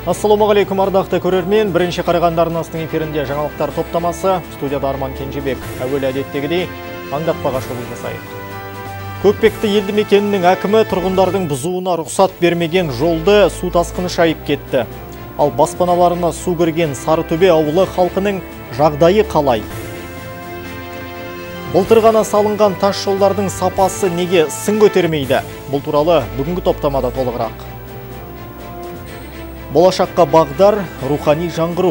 Ассалаумағалейкум ардақты көрермен, бірінші Қарағанды арнасының эфирінде жаңалықтар топтамасы, студияда Арман Кенжебек. Әуелі әдеттегідей аңдатпаға шолу жасайық. Көкпекті елді мекенінің әкімі тұрғындардың бұзуына рұқсат бермеген жолды су тасқыны шайып кетті. Ал баспаналарына су кірген Сарытөбе ауылы халқының жағдайы қалай? Былтыр ғана салынған тас жолдардың сапасы неге сын көтермейді? Бұл туралы бүгінгі топтамада толығырақ. Болашаққа бағдар, рухани жаңғыру.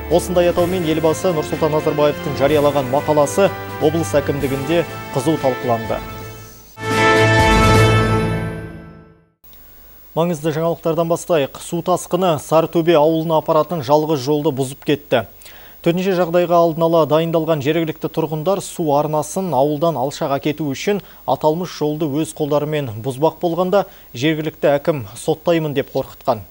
Осындай атаумен елбасы Нұрсұлтан Назарбаевтың жариялаған мақаласы облыс әкімдігінде қызу талқыланды. Маңызды жаңалықтардан бастайық. Су тасқыны Сарытөбе ауылына апаратын жалғыз жолды бұзып кетті. Төтенше жағдайға алдын ала дайындалған жергілікті тұрғындар су арнасын ауылдан алшаға кету үшін аталмыш жолды өз қолдарымен бұзбақ болғанда жергілікті әкім соттаймын деп қорқытқан.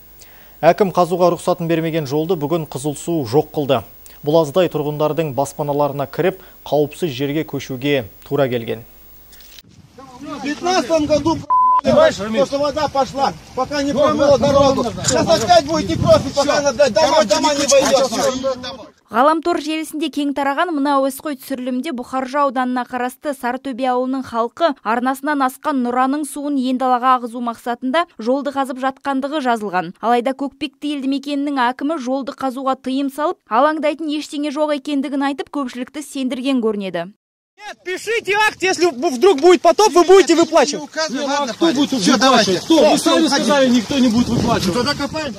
Әкім қазуға рұқсатын бермеген жолды бүгін Қызыл су жоқ қылды. Бұл аздай тұрғындардың баспаналарына кіріп, қауіпсіз жерге көшуге тура келген. В 15 году что вода пошла, пока не промыла дорогу. Сейчас опять будете просить, пока дома не войдет. Ғаламтор желісінде кең тараған мына әуесқой түсірілімде Бұқаржы ауданына қарасты Сарытөбе ауылының халқы арнасынан асқан Нұраның суын ендалаға ағызу мақсатында жолды қазып жатқандығы жазылған. Алайда Көкпекті елді мекенінің әкімі жолды қазуға тыйым салып, алаңдайтын ештеңе жоқ екендігін айтып, көпшілікті сендірген көрінеді. Нет, пишите акт, если вдруг будет потоп, вы будете выплачивать. Кто будет выплачивать? Кто? Вы сами сказали, никто не будет выплачивать. Тогда копаем.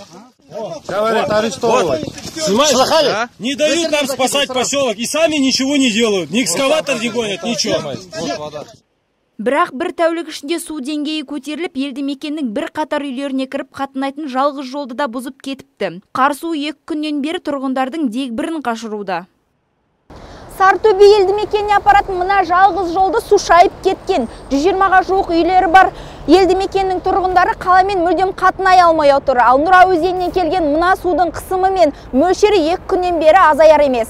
Говорят, арестовывать. Слышали? Не дают нам спасать поселок и сами ничего не делают. Ни экскаватор не гонят, ничего. Бірақ бір тәулік ішінде су деңгейі көтеріліп, елді мекеннің бір қатар үйлеріне кіріп қатынайтын жалғыз жолды да бұзып кетіпті. Қар суы 2 күннен бері тұрғындардың дегбірін қашыруда. Сарытөбе елді мекеніне апаратын мына жалғыз жолды су шайып кеткен. 120-ға жуық үйлері бар елді мекеннің тұрғындары қаламен мүлдем қатынай алмай отыр. Ал Нұра өзенінен келген мына судың қысымы мен мөлшері 2 күннен бері азаяр емес.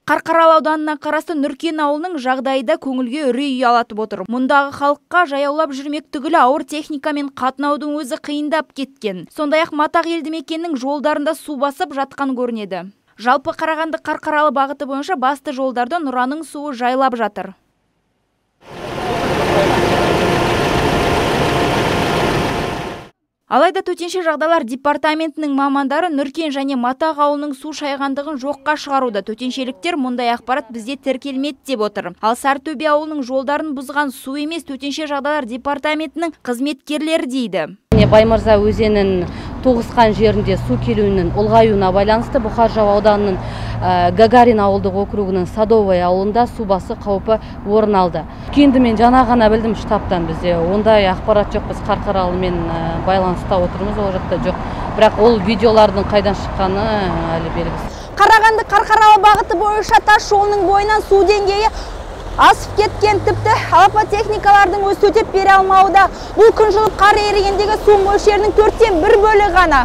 Қарқаралы ауданына қарасты Нұркен ауылының жағдайы да көңілге үрей ұялатып отыр. Мұндағы халыққа жаяулап жүрмек түгілі ауыр техникамен қатынаудың өзі қиындап кеткен. Сондай-ақ Матақ елді мекеннің жолдарында су басып жатқан көрінеді. Жалпы Қарағанды Қарқаралы бағыты бойынша басты жолдарды Нұраның суы жайлап жатыр. Алайда төтенше жағдайлар департаментінің мамандары Нұркен және Матақ ауылының су шайғандығын жоққа шығаруда. Төтеншеліктер мұндай ақпарат бізде тіркелмеді деп отыр. Ал Сарытөбе ауылының жолдарын бұзған су емес, төтенше жағдайлар департаментінің қызметкерлері дейді. Баймырза өзенін тоғысқан жерінде су келуінің ұлғаюына байланысты Бұқаржы ауданының Гагарин ауылдық округінің Садовый ауылында су басы қаупі орын алды. Енді мен жаңа ғана білдім штабтан, бізде ондай ақпарат жоқ, біз Қарқаралымен байланыста отырмыз, ол жақта жоқ. Бірақ ол видеолардың қайдан шыққаны әлі белгісіз. Қарағанды Қарқаралы бағыты бойынша тас жолының бойынан су деңгейі асып кеткен, тіпті алапа техникалардың өз төтеп бере алмауда. Бұл күн жылып қар ерігендегі су мөлшерінің 4-тен 1 бөлігі ғана.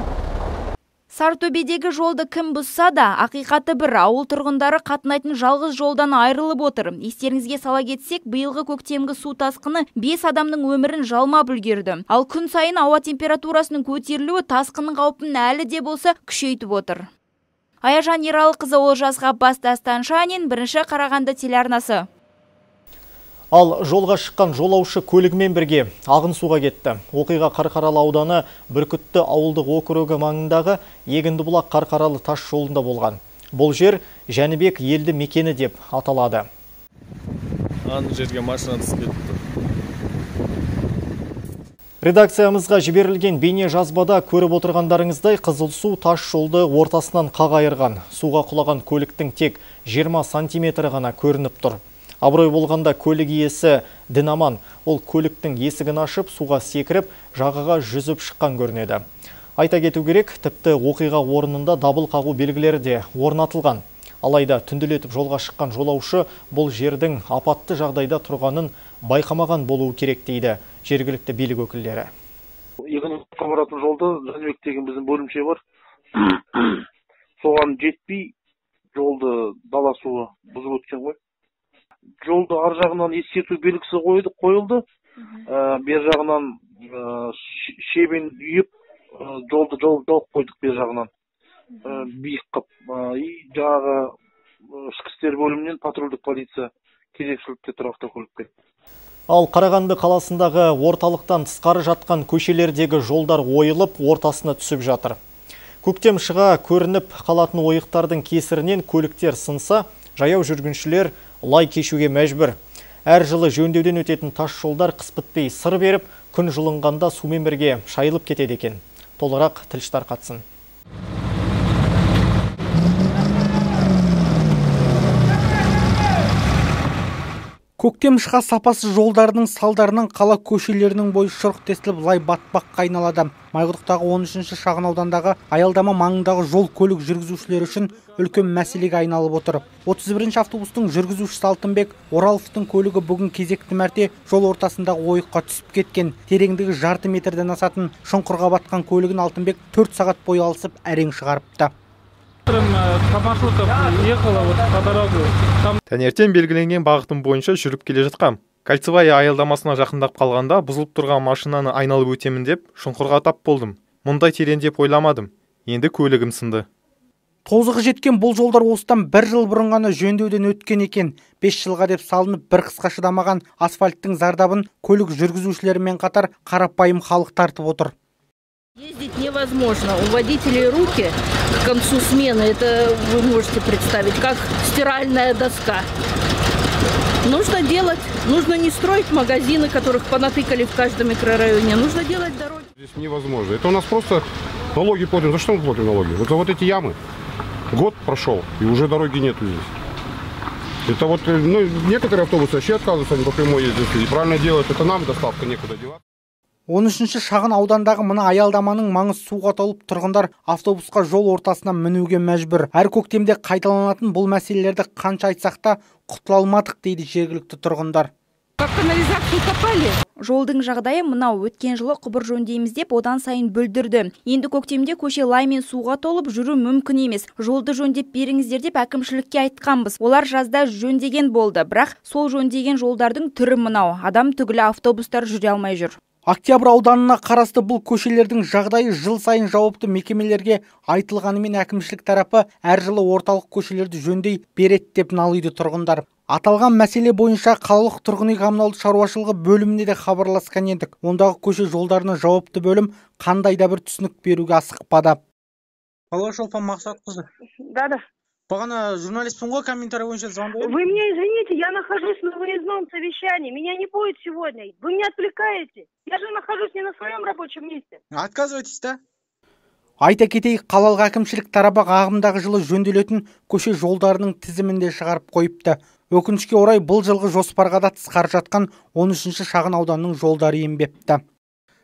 Сарытөбедегі жолды кім бұзса да, ақиқаты бір, ауыл тұрғындары қатынайтын жалғыз жолдан айырылып отыр. Естеріңізге сала кетсек, биылғы көктемгі су тасқыны 5 адамның өмірін жалмап үлгерді. Ал күн сайын ауа температурасының көтерілуі тасқынның қаупін әлі де болса күшейтіп отыр. Аяжан Ералықызы, Олжас Ғаббас, Дастан Шанин, бірінші Қарағанды телеарнасы. Ал жолға шыққан жолаушы көлігімен бірге ағын суға кетті. Оқиға Қарқаралы ауданы Бүркітті ауылдық округі маңындағы Егіндібұлақ Қарқаралы тас жолында болған. Бұл жер Жәнібек елді мекені деп аталады. Аны жерге машина түсіп кетті. Редакциямызға жіберілген бейне жазбада көріп отырғандарыңыздай Қызыл су тас жолды ортасынан қағайырған. Суға құлаған көліктің тек 20 сантиметр ғана көрініп тұр. Абырой болғанда көлік иесі Дінаман, ол көліктің есігін ашып, суға секіріп, жағаға жүзіп шыққан көрінеді. Айта кету керек, тіпті оқиға орнында дабыл қағу белгілері де орнатылған. Алайда түнделетіп жолға шыққан жолаушы бұл жердің апатты жағдайда тұрғанын байқамаған болуы керек дейді жергілікті билік өкілдері. Егіндібұлаққа баратын жолда Жәнібек деген біздің бөлімше бар. Соған жетпей жолды дала суы бұзып өткен ғой. Жолды ар жағынан ескерту белгісі қойылды. Бер жағынан шебен үйіп жолды жауып қойдық бер жағынан. Биік қып. Жаңағы ішкі істер бөлімінен патрульдік полиция кезекшілікте тұр автокөлікке. Ал Қарағанды қаласындағы орталықтан тысқары жатқан көшелердегі жолдар ойылып, ортасына түсіп жатыр. Көктем шыға көрініп қалатын ойықтардың кесірінен көліктер сынса, жаяу жүргіншілер лай кешуге мәжбүр. Әр жылы жөндеуден өтетін тас жолдар қыс бітпей сыр беріп, күн жылынғанда сумен бірге шайылып кетеді екен. Толығырақ тілші тарқатсын. Көктем шыға сапасыз жолдардың салдарынан қала көшелерінің бойы шұрық тесіліп лай батпаққа айналады. Майқұдықтағы 13-ші шағын аудандағы аялдама маңындағы жол көлік жүргізушілері үшін үлкен мәселеге айналып отыр. 31-ші автобустың жүргізушісі Алтынбек Ораловтың көлігі бүгін кезекті мәрте жол ортасындағы ойыққа түсіп кеткен. Тереңдігі жарты метрден асатын шұңқырға батқан көлігін Алтынбек 4 сағат бойы алысып әрең шығарыпты. Таңертең белгіленген бағытым бойынша жүріп келе жатқам. Кольцевая аялдамасына жақындап қалғанда бұзылып тұрған машинаны айналып өтемін деп шұңқырға тап болдым. Мұндай терең деп ойламадым. Енді көлігім сынды. Тозығы жеткен бұл жолдар осыдан 1 жыл бұрын ғана жөндеуден өткен екен. 5 жылға деп салынып бір қысқа шыдамаған асфальттың зардабын көлік жүргізушілерімен қатар қарапайым халық тартып отыр. Ездить невозможно. У водителей руки к концу смены, это вы можете представить, как стиральная доска. Нужно делать, нужно не строить магазины, которых понатыкали в каждом микрорайоне, нужно делать дороги. Здесь невозможно. Это у нас просто налоги платим. За что мы платим налоги? Вот за вот эти ямы. Год прошел, и уже дороги нету здесь. Это вот, некоторые автобусы вообще отказываются, они по прямой ездят. И правильно делают, это нам доставка некуда девать. 13-ші шағын аудандағы мына аялдаманың маңы суға толып, тұрғындар автобусқа жол ортасына мінуге мәжбүр. Әр көктемде қайталанатын бұл мәселелерді қанша айтсақ та құтыла алмадық дейді жергілікті тұрғындар. Жолдың жағдайы мынау, өткен жылы құбыр жөндейміз деп одан сайын бүлдірді. Енді көктемде көше лаймен суға толып жүру мүмкін емес. Жолды жөндеп беріңіздер деп әкімшілікке айтқанбыз. Олар жазда жөндеген болды, бірақ сол жөндеген жолдардың түрі мынау. Адам түгілі автобустар жүре алмай жүр. Октябрь ауданына қарасты бұл көшелердің жағдайы жыл сайын жауапты мекемелерге айтылғанымен әкімшілік тарапы әр жылы орталық көшелерді жөндей береді деп налиды тұрғындар. Аталған мәселе бойынша қалалық тұрғын үй коммуналдық шаруашылығы бөліміне де хабарласқан едік. Ондағы көше жолдарына жауапты бөлім қандай да бір түсінік беруге асықпады. Алло, Шолпан Мақсатқызы. Да. Бағана журналистпін ғой, комментарий бойынша звондаймын. Вы меня извините, я нахожусь на выездном совещании. Меня не будет сегодня. Вы меня отвлекаете. Я же нахожусь не на своем рабочем месте. Отказывайтесь, да? Айта кетейік, қалалық әкімшілік тарапы ағымдағы жылы жөнделетін көше жолдарының тізімінде шығарып қойыпты. Өкінішке орай бұл жылғы жоспарға да тысқары жатқан 13-ші шағын ауданның жолдары енбепті.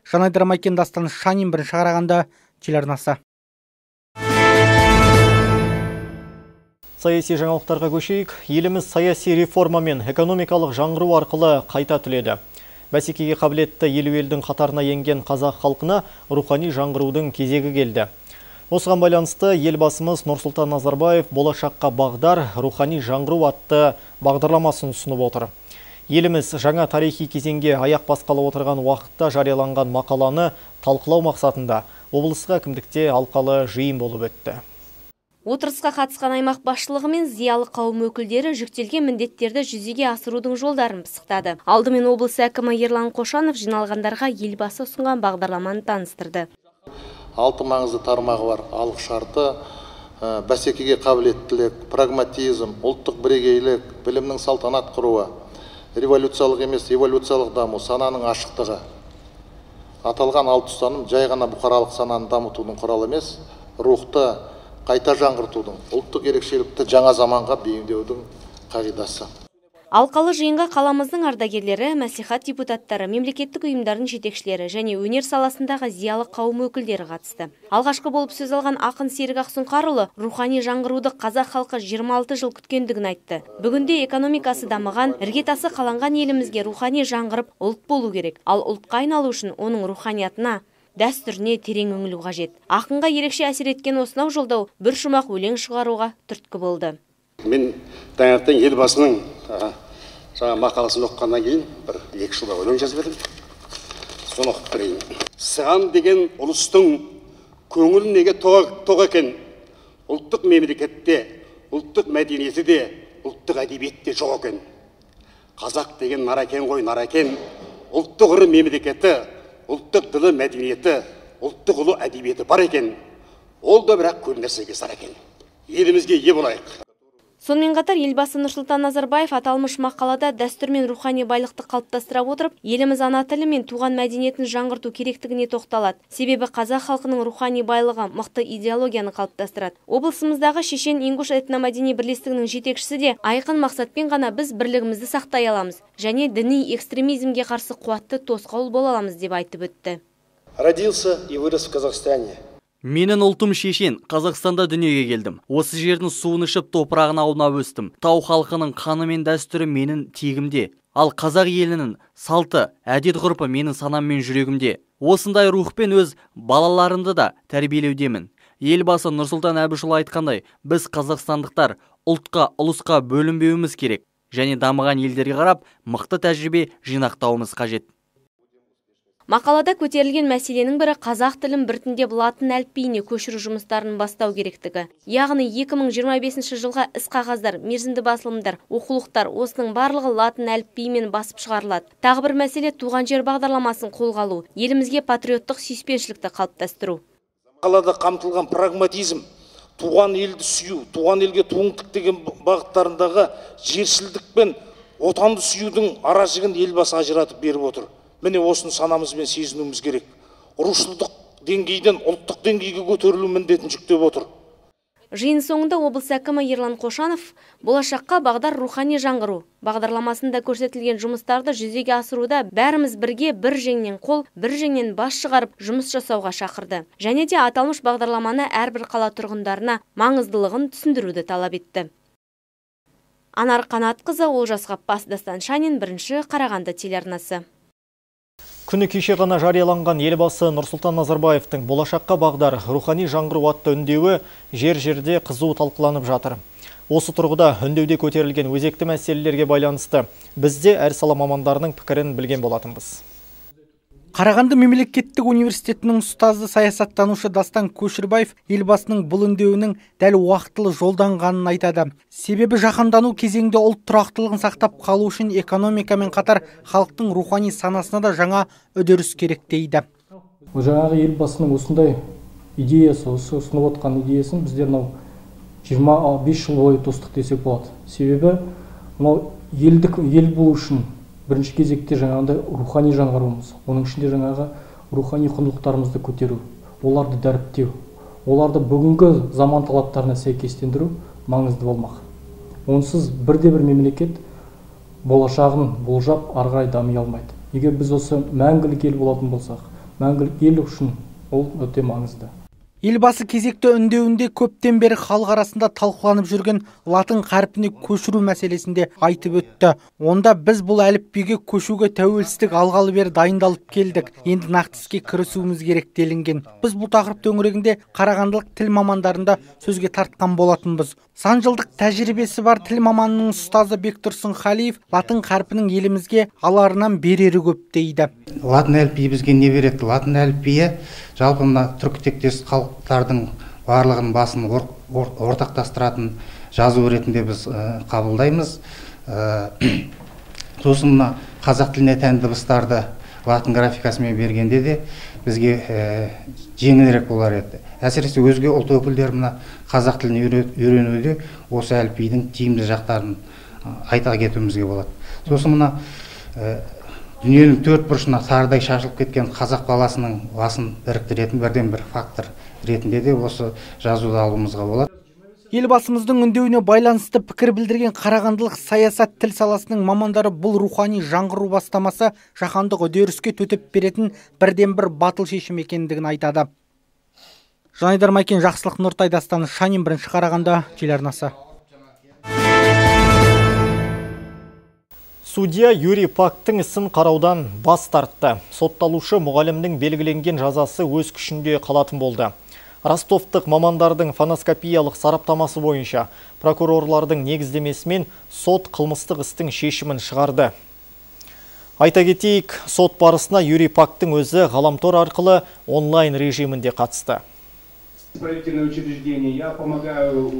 Жанайдар Майкен, Дастан Шанин, Бірінші Қарағанды телеарнасы. Саяси жаңалықтарға көшейік. Еліміз саяси реформа мен экономикалық жаңғыру арқылы қайта түледі. Бәсекеге қабілетті елу елдің қатарына енген қазақ халқына рухани жаңғырудың кезегі келді. Осыған байланысты елбасымыз Нұрсұлтан Назарбаев болашаққа бағдар рухани жаңғыру атты бағдарламасын ұсынып отыр. Еліміз жаңа тарихи кезеңге аяқ басқалы отырған уақытта жарияланған мақаланы талқылау мақсатында облысқа әкімдікте алқалы жиын болып өтті. Отырысқа қатысқан аймақ басшылығы мен зиялы қауым өкілдері жүктелген міндеттерді жүзеге асырудың жолдарын пысықтады. Алдымен облыс әкімі Ерлан Қошанов жиналғандарға елбасы ұсынған бағдарламаны таныстырды. 6 маңызды тармағы бар: халық шарты, бәсекеге қабілеттілік, прагматизм, ұлттық бірегейлік, білімнің салтанат құруы, революциялық емес эволюциялық даму, сананың ашықтығы. Аталған 6 ұстаным жай ғана бұқаралық сананы дамытудың құралы емес, рухты қайта жаңғыртудың, ұлттық ерекшелікті жаңа заманға бейімдеудің қағидасы. Алқалы жиынға қаламыздың ардагерлері, мәслихат депутаттары, мемлекеттік ұйымдардың жетекшілері және өнер саласындағы зиялы қауым өкілдері қатысты. Алғашқы болып сөз алған ақын Серік Ақсұңқарұлы рухани жаңғыруды қазақ халқы 26 жыл күткендігін айтты. Бүгінде экономикасы дамыған, іргетасы қаланған елімізге рухани жаңғырып ұлт болу керек. Ал ұлтқа айналу үшін оның руханиятына, дәстүріне терең үңілу қажет. Ақынға ерекше әсер еткен осынау жолдау бір шумақ өлең шығаруға түрткі болды. Мен таңертең елбасының жаңа мақаласын оқығаннан кейін бір 2 жылда өлең жазып едім. Соны оқып берейін. Сыған деген ұлыстың көңіл неге тоқ екен. Ұлттық мемлекетте, ұлттық мәдениеті де, ұлттық әдебиетте жоқ екен. Қазақ деген наракен ғой, наракен. Ұлттық ұры мемлекеті, ұлттық ділі мәдениеті, ұлттық ұлы әдебиеті бар екен. Ол да бірақ көп нәрсеге сар екен. Елімізге ие болайық. Сонымен қатар елбасы Нұрсұлтан Назарбаев аталмыш мақалада дәстүр мен рухани байлықты қалыптастыра отырып, еліміз ана тілі мен туған мәдениетін жаңғырту керектігіне тоқталады. Себебі қазақ халқының рухани байлығы мықты идеологияны қалыптастырады. Облысымыздағы шешен-ингуш этномәдени бірлестігінің жетекшісі де айқын мақсатпен ғана біз бірлігімізді сақтай аламыз және діни экстремизмге қарсы қуатты тосқауыл бола аламыз деп айтып өтті. Родился и вырос в Казахстане. Менің ұлтым шешен, Қазақстанда дүниеге келдім. Осы жердің суын ішіп топырағын аунап өстім. Тау халқының қаны мен дәстүрі менің тегімде. Ал қазақ елінің салты, әдет-ғұрпы менің санам мен жүрегімде. Осындай рухпен өз балаларымды да тәрбиелеудемін. Елбасы Нұрсұлтан Әбішұлы айтқандай, біз қазақстандықтар ұлтқа, ұлысқа бөлінбеуіміз керек. Және дамыған елдерге қарап, мықты тәжірибе жинақтауымыз қажет. Мақалада көтерілген мәселенің бірі қазақ тілін біртіндеп латын әліпбиіне көшіру жұмыстарын бастау керектігі. Яғни 2025 жылға іс-қағаздар, мерзімді басылымдар, оқулықтар осының барлығы латын әліпбиімен басып шығарылады. Тағы бір мәселе туған жер бағдарламасын қолға алу, елімізге патриоттық сүйіспеншілікті қалыптастыру. Мақалада қамтылған прагматизм, туған елді сүю, туған елге туың тік деген бағыттарындағы жершілдік пен отанды сүюдің аражігін елбасы ажыратып беріп отыр. Міне осыны санамызбен сезінуіміз керек. Рушылдық деңгейден ұлттық деңгейге көтерілу міндетін жүктеп отыр. Жиын соңында облыс әкімі Ерлан Қошанов болашаққа бағдар рухани жаңғыру бағдарламасында көрсетілген жұмыстарды жүзеге асыруда бәріміз бірге бір жеңнен қол, бір жеңнен бас шығарып жұмыс жасауға шақырды. Және де аталмыш бағдарламаны әрбір қала тұрғындарына маңыздылығын түсіндіруді талап етті. Анар Қанатқызы, Олжас Ғаппас, Дастан Шанин, 1 Қарағанды телеарнасы. Күні кеше ғана жарияланған елбасы Нұрсұлтан Назарбаевтың болашаққа бағдар рухани жаңғыру атты үндеуі жер-жерде қызу талқыланып жатыр. Осы тұрғыда үндеуде көтерілген өзекті мәселелерге байланысты бізде әр сала мамандарының пікірін білген болатынбыз. Қарағанды мемлекеттік университетінің ұстазы саясаттанушы Дастан Көшірбаев елбасының бұл үндеуінің дәл уақытылы жолданғанын айтады. Себебі жаһандану кезеңде ұлт тұрақтылығын сақтап қалу үшін экономикамен қатар халықтың рухани санасына да жаңа үдеріс керек дейді. Жаңағы елбасының осындай идеясы, осы ұсынып отқан идеясын біздер 25 жыл бойы тостық десек болады. Себебі ел болу үшін бірінші кезекте жаңағындай рухани жаңғыруымыз, оның ішінде жаңағы рухани құндылықтарымызды көтеру, оларды дәріптеу, оларды бүгінгі заман талаптарына сәйкестендіру маңызды болмақ. Онсыз бірде-бір мемлекет болашағын болжап ары қарай дами алмайды. Егер біз осы мәңгілік ел болатын болсақ, мәңгілік ел үшін ол өте маңызды. Елбасы кезекті үндеуінде көптен бері халық арасында талқыланып жүрген латын қарпіне көшіру мәселесінде айтып өтті. Онда біз бұл әліпбиге көшуге тәуелсіздік алғалы бері дайындалып келдік. Енді нақты іске кірісуіміз керек делінген. Біз бұл тақырып төңірегінде қарағандылық тіл мамандарында сөзге тартқан болатынбыз. Сан жылдық тәжірибесі бар тіл маманының ұстазы Бектұрсын Халиев латын қарпінің елімізге аларынан берері көп дейді. Латын әліпбиі бізге не береді? Латын әліпбиі жалпы мына түркітектес халықтардың барлығын басын ортақтастыратын жазу ретінде біз қабылдаймыз. Сосын мына қазақ тіліне тән дыбыстарды латын графикасымен бергенде де бізге жеңілірек болар еді. Әсіресе өзге ұлт өкілдері мына қазақ тілін үйренуде осы әліпбидің тиімді жақтарын айта кетуімізге болады. Сосын мына дүниенің төрт бұрышына тарыдай шашылып кеткен қазақ баласының басын біріктіретін бірден бір фактор ретінде де осы жазуды алуымызға болады. Елбасымыздың үндеуіне байланысты пікір білдірген қарағандылық саясат тіл саласының мамандары бұл рухани жаңғыру бастамасы жаһандық үдеріске төтеп беретін бірден бір батыл шешім екендігін айтады. Жанайдар Майкен, Жақсылық Нұртай, Дастан Шанин, 1 Қарағанды телеарнасы. Судья Юрий Пактың ісін қараудан бас тартты. Сотталушы мұғалімнің белгіленген жазасы өз күшінде қалатын болды. Ростовтық мамандардың фоноскопиялық сараптамасы бойынша прокурорлардың негіздемесімен сот қылмыстық істің шешімін шығарды. Айта кетейік, сот барысына Юрий Пактың өзі ғаламтор арқылы онлайн режимінде қатысты. Исправительное учреждение. Я помогаю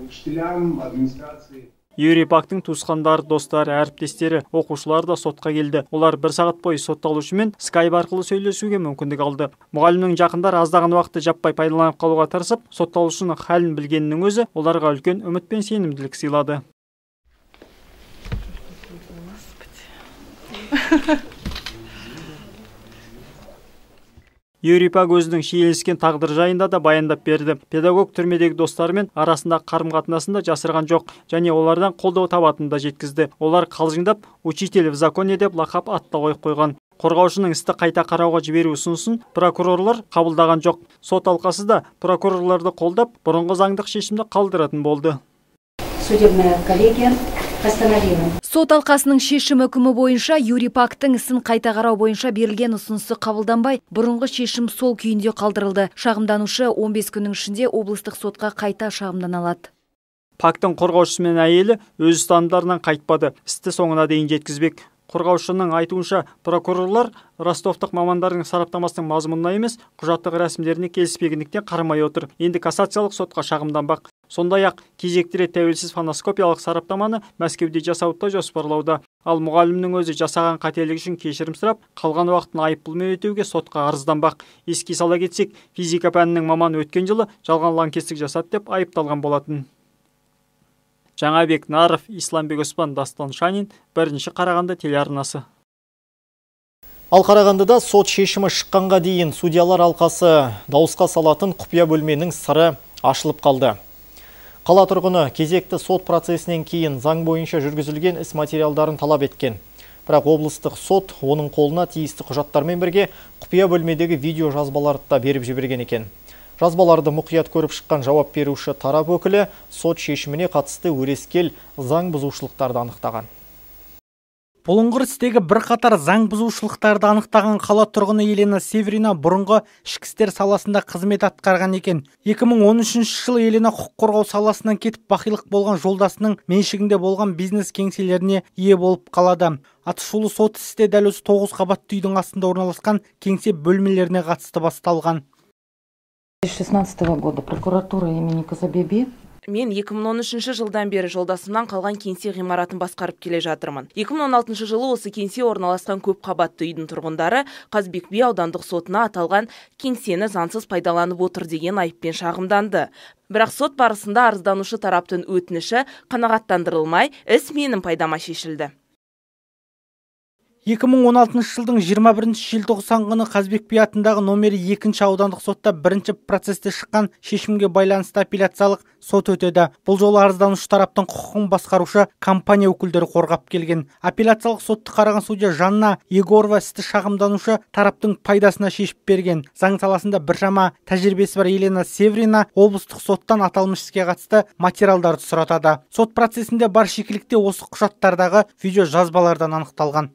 учителям, администрации. Юрий Пактың туысқандары, достары, әріптестері, оқушылар да сотқа келді. Олар 1 сағат бойы сотталушымен скайп арқылы сөйлесуге мүмкіндік алды. Мұғалімнің жақындары аздаған уақытты жаппай пайдаланып қалуға тырысып, сотталушының халін білгеннің өзі оларға үлкен үміт пен сенімділік сыйлады. Юрий Пак өзінің шиеленіскен тағдыр жайында да баяндап берді. Педагог түрмедегі достарымен арасында қарым-қатынасында жасырған жоқ, және олардан қолдау табатынын да жеткізді. Олар қалжыңдап «Учитель в законе» деп лақап атта қойған. Қорғаушының істі қайта қарауға жіберу ұсынысын прокурорлар қабылдаған жоқ. Сот алқасы да прокурорларды қолдап, бұрынғы заңдық шешімді қалдыратын болды. Судебная коллегия постановила. Сот алқасының шешім үкімі бойынша Юрий Пактың ісін қайта қарау бойынша берілген ұсынысы қабылданбай, бұрынғы шешім сол күйінде қалдырылды. Шағымданушы 15 күннің ішінде облыстық сотқа қайта шағымдана алады. Пактың қорғаушысы мен әйелі өз ұстанымдарынан қайтпады. Істі соңына дейін жеткізбек. Қорғаушының айтуынша, прокурорлар ростовтық мамандардың сараптамасының мазмұнына емес, құжаттық рәсімдеріне келіспегендіктен қарамай отыр. Енді кассациялық сотқа шағымданбақ. Сондай-ақ кезекті рет тәуелсіз фоноскопиялық сараптаманы Мәскеуде жасауды жоспарлауда. Ал мұғалімнің өзі жасаған қателік үшін кешірім сұрап, қалған уақытын айыппұлмен өтеуге сотқа арызданбақ. Еске сала кетсек, физика пәнінің маманы өткен жылы жалған лаңкестік жасады деп айыпталған болатын. Жаңабек Наров, Исламбек Оспан, Дастан Шанин, 1-ші Қарағанды телеарнасы. Ал Қарағандыда сот шешімі шыққанға дейін судьялар алқасы дауысқа салатын құпия бөлменің сыры ашылып қалды. Қала тұрғыны кезекті сот процесінен кейін заң бойынша жүргізілген іс материалдарын талап еткен. Бірақ облыстық сот оның қолына тиісті құжаттармен бірге құпия бөлмедегі видео жазбаларды да беріп жіберген екен. Жазбаларды мұқият көріп шыққан жауап беруші тарап өкілі сот шешіміне қатысты өрескел заң бұзушылықтарды анықтаған. Бұлыңғыр істегі бірқатар заң бұзушылықтарды анықтаған қала тұрғыны Елена Северина бұрынғы ішкі істер саласында қызмет атқарған екен. 2013 жылы Елена құқық қорғау саласынан кетіп бақилық болған жолдасының меншігінде болған бизнес кеңселеріне ие болып қалады. Атышулы сот істе дәл осы 9 қабатты үйдің астында орналасқан кеңсе бөлмелеріне қатысты басталған. 2016 года прокуратура имени Казабеби. Мен 2013 жылдан бері жолдасымнан қалған кеңсе ғимаратын басқарып келе жатырмын. 2016 жылы осы кеңсе орналасқан көп қабатты үйдің тұрғындары Қазбек би аудандық сотына аталған кеңсені заңсыз пайдаланып отыр деген айыппен шағымданды. Бірақ сот барысында арызданушы тараптың өтініші қанағаттандырылмай, іс менің пайдама шешілді. 2016 жылдың 21 желтоқсан күні Қазбек би атындағы номері 2-ші аудандық сотта 1-ші процесте шыққан шешімге байланысты апелляциялық сот өтеді. Бұл жолы арызданушы тараптың құқығын басқарушы компания өкілдері қорғап келген. Апелляциялық сотты қараған судья Жанна Егорова істі шағымданушы тараптың пайдасына шешіп берген. Заң саласында біршама тәжірибесі бар Елена Северина облыстық соттан аталмыш іске қатысты материалдарды сұратады. Сот процесінде бар шикілікте осы құжаттардағы видео жазбалардан анықталған.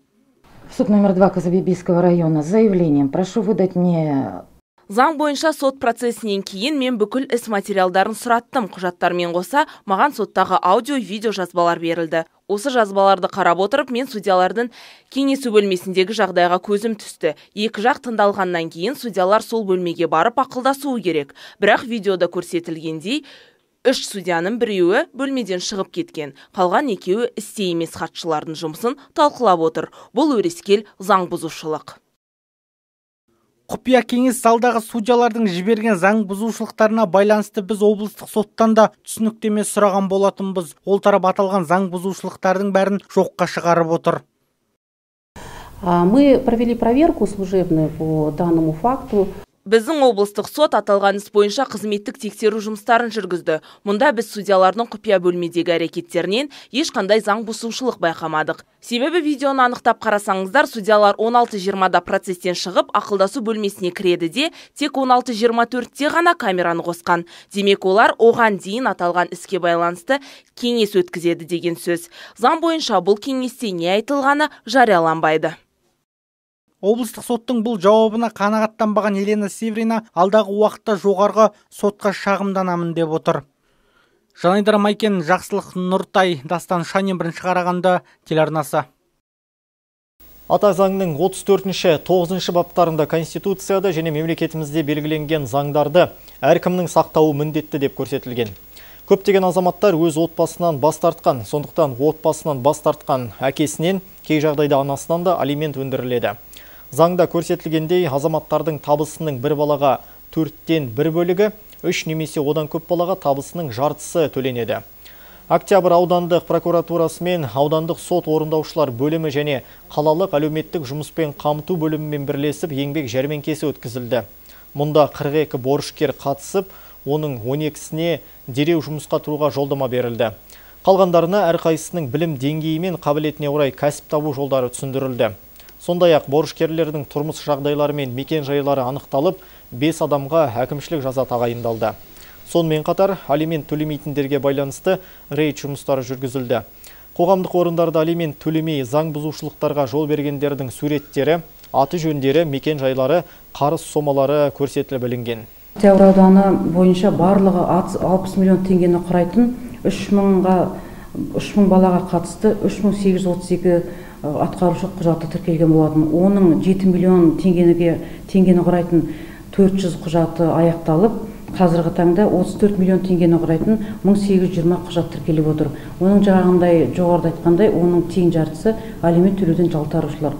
Суд номер 2 Казабебийского района с заявлением. Прошу выдать мне... Заң бойынша сот процесінен кейін мен бүкіл іс материалдарын сұраттым. Құжаттармен қоса маған соттағы аудио-видео жазбалар берілді. Осы жазбаларды қарап отырып, мен судьялардың кеңесу бөлмесіндегі жағдайға көзім түсті. Екі жақ тыңдалғаннан кейін судьялар сол бөлмеге барып ақылдасуы керек. Бірақ видеода көрсетілгендей, 3 судьяның біреуі бөлмеден шығып кеткен. Қалған екеуі істе емес хатшылардың жұмысын талқылап отыр. Бұл өрескел заң бұзушылық. Құпия кеңес залдағы судьялардың жіберген заң бұзушылықтарына байланысты біз облыстық соттан да түсініктеме сұраған болатынбыз. Ол тарап аталған заң бұзушылықтардың бәрін жоққа шығарып отыр. Мы провели проверку служебную по данному факту. Біздің облыстық сот аталған іс бойынша қызметтік тексеру жұмыстарын жүргізді. Мұнда біз судьялардың құпия бөлмедегі әрекеттерінен ешқандай заң бұзушылық байқамадық. Себебі видеоны анықтап қарасаңыздар, судьялар 16:20-да процестен шығып, ақылдасу бөлмесіне кіреді де, тек 16:24-те ғана камераны қосқан. Демек, олар оған дейін аталған іске байланысты кеңес өткізеді деген сөз. Заң бойынша бұл кеңесте не айтылғаны жарияланбайды. Облыстық соттың бұл жауабына қанағаттанбаған Елена Северина алдағы уақытта жоғарғы сотқа шағымданамын деп отыр. Жанайдар Майкен, Жақсылық Нұртай, Дастан Шанин, 1-ші Қарағанды телеарнасы. Ата заңның 34-9 баптарында Конституцияда және мемлекетімізде белгіленген заңдарды әркімнің сақтауы міндетті деп көрсетілген. Көптеген азаматтар өз отбасынан бас тартқан, сондықтан отбасынан бас тартқан әкесінен, кей жағдайда анасынан да алимент өндіріледі. Заңда көрсетілгендей, азаматтардың табысының бір балаға 4-тен 1 бөлігі, 3 немесе одан көп балаға табысының жартысы төленеді. Октябрь аудандық прокуратурасы мен аудандық сот орындаушылар бөлімі және қалалық әлеуметтік жұмыспен қамту бөлімімен бірлесіп еңбек жәрмеңкесі өткізілді. Мұнда 42 борышкер қатысып, оның 12-сіне дереу жұмысқа тұруға жолдама берілді. Қалғандарына әрқайсының білім деңгейі мен қабілетіне орай кәсіп табу жолдары түсіндірілді. Сондай-ақ борышкерлердің тұрмыс жағдайлары мен мекен жайлары анықталып, 5 адамға әкімшілік жаза тағайындалды. Сонымен қатар, алимент төлемейтіндерге байланысты рейд жұмыстары жүргізілді. Қоғамдық орындарда алимент төлемей заң бұзушылықтарға жол бергендердің суреттері, аты жөндері, мекен жайлары, қарыз сомалары көрсетіліп білінген. Октябрь ауданы бойынша барлығы 60 миллион теңгені құрайтын 3000 балаға қатысты 3832 атқарушы құжаты тіркелген болатын. Оның 7 миллион теңгені құрайтын 400 құжаты аяқталып, қазіргі таңда 34 миллион теңгені құрайтын 1820 құжат тіркеліп отыр. Оның жағындай жоғарыда айтқандай, оның тең жартысы алимент төлеуден жалтарушылар.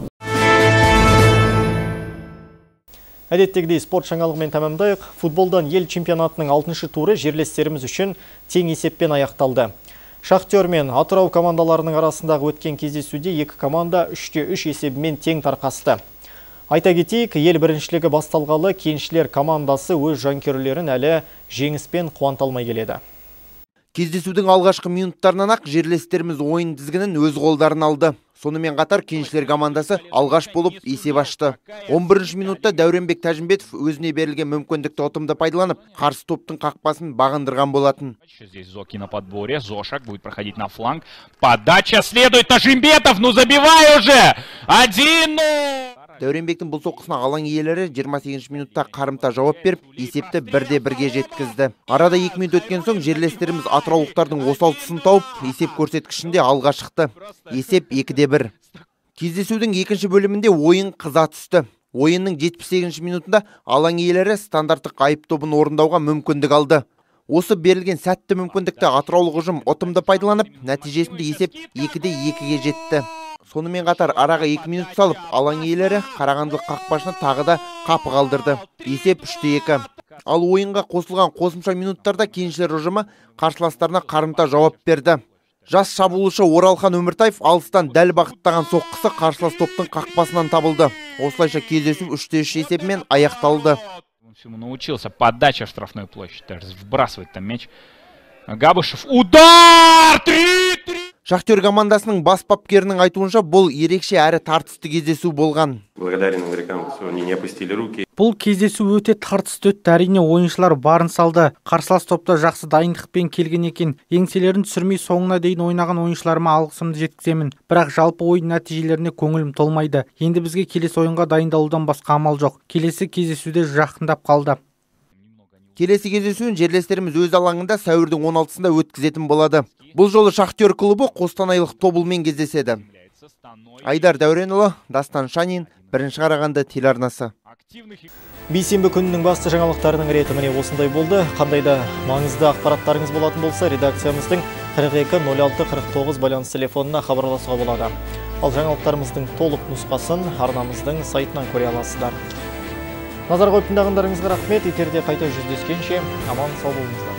Әдеттегідей спорт жаңалығымен тәмамдайық. Футболдан ел чемпионатының 6-шы туры жерлестеріміз үшін тең есеппен аяқталды. Шахтер мен Атырау командаларының арасындағы өткен кездесуде екі команда 3-3 есебімен тең тарқасты. Айта кетейік, ел біріншілігі басталғалы кеншілер командасы өз жанкүйерлерін әлі жеңіспен қуанталмай келеді. Кездесудің алғашқы минуттарынан ақ жерлестеріміз ойын тізгінін өз қолдарын алды. Сонымен қатар кеншілер командасы алғаш болып есеп ашты. 11-ші минутта Дәуренбек Тәжімбетов өзіне берілген мүмкіндікті ұтымды пайдаланып, қарсы топтың қақпасын бағындырған болатын. Здесь Зоки на подборе, Зошак будет проходить на фланг. Подача следует, Тажимбетов, ну забивай уже! 1-0! Дәуренбектің бұл соққысына алаң иелері 28-ші минутта қарымта жауап беріп, есепті 1-1-ге жеткізді. Арада 2 минут өткен соң жерлестеріміз атыраулықтардың осал тұсын тауып, есеп көрсеткішінде алға шықты. Есеп 2-1. Кездесудің екінші бөлімінде ойын қыза түсті. Ойынның 78-ші минутында алаң иелері стандарттық айып тобын орындауға мүмкіндік алды. Осы берілген сәтті мүмкіндікті атыраулық ұжым ұтымды пайдаланып, нәтижесінде есеп 2-2-ге жетті. Сонымен қатар араға 2 минут салып, алаң иелері Қарағандылық қақпашыны тағы да қапы қалдырды. Есеп 3-2. Ал ойынға қосылған қосымша минуттарда кеншілер ұжымы қарсыластарына қарымта жауап берді. Жас шабуылшы Оралхан Өміртаев алыстан дәл бағыттаған соққысы қарсылас топтың қақпасынан табылды. Осылайша кездесу 3-3 есебімен аяқталды. Научился подача в штрафную площадь, вбрасывать там мяч. Габышев, удар! 3-3! Шахтер командасының бас бапкерінің айтуынша бұл ерекше әрі тартысты кездесу болған. Благодарен игрокам, что они не опустили руки. Бұл кездесу өте тартысты өтті. Әрине ойыншылар барын салды. Қарсылас топта жақсы дайындықпен келген екен. Еңселерін түсірмей соңына дейін ойнаған ойыншыларыма алғысымды жеткіземін. Бірақ жалпы ойын нәтижелеріне көңілім толмайды. Енді бізге келесі ойынға дайындалудан басқа амал жоқ. Келесі кездесуде жақындап қалды. Келесі кездесуін жерлестеріміз өз алаңында сәуірдің 16-сында өткізетін болады. Бұл жолы Шахтер клубы Қостанайлық Тобылмен кездеседі. Айдар Дәуренұлы, Дастан Шанин, Бірінші Қарағанды телеарнасы. Бейсенбі күнінің басты жаңалықтарының реті міне осындай болды. Қандай да маңызды ақпараттарыңыз болатын болса, редакциямыздың 42-06-49 байланыс телефонына хабарласуға болады. Ал жаңалықтарымыздың толық нұсқасын арнамыздың сайтынан көре аласыздар. Назар қойып тыңдағандарыңызға рахмет. Эфирде қайта жүздескенше аман сау болыңыздар.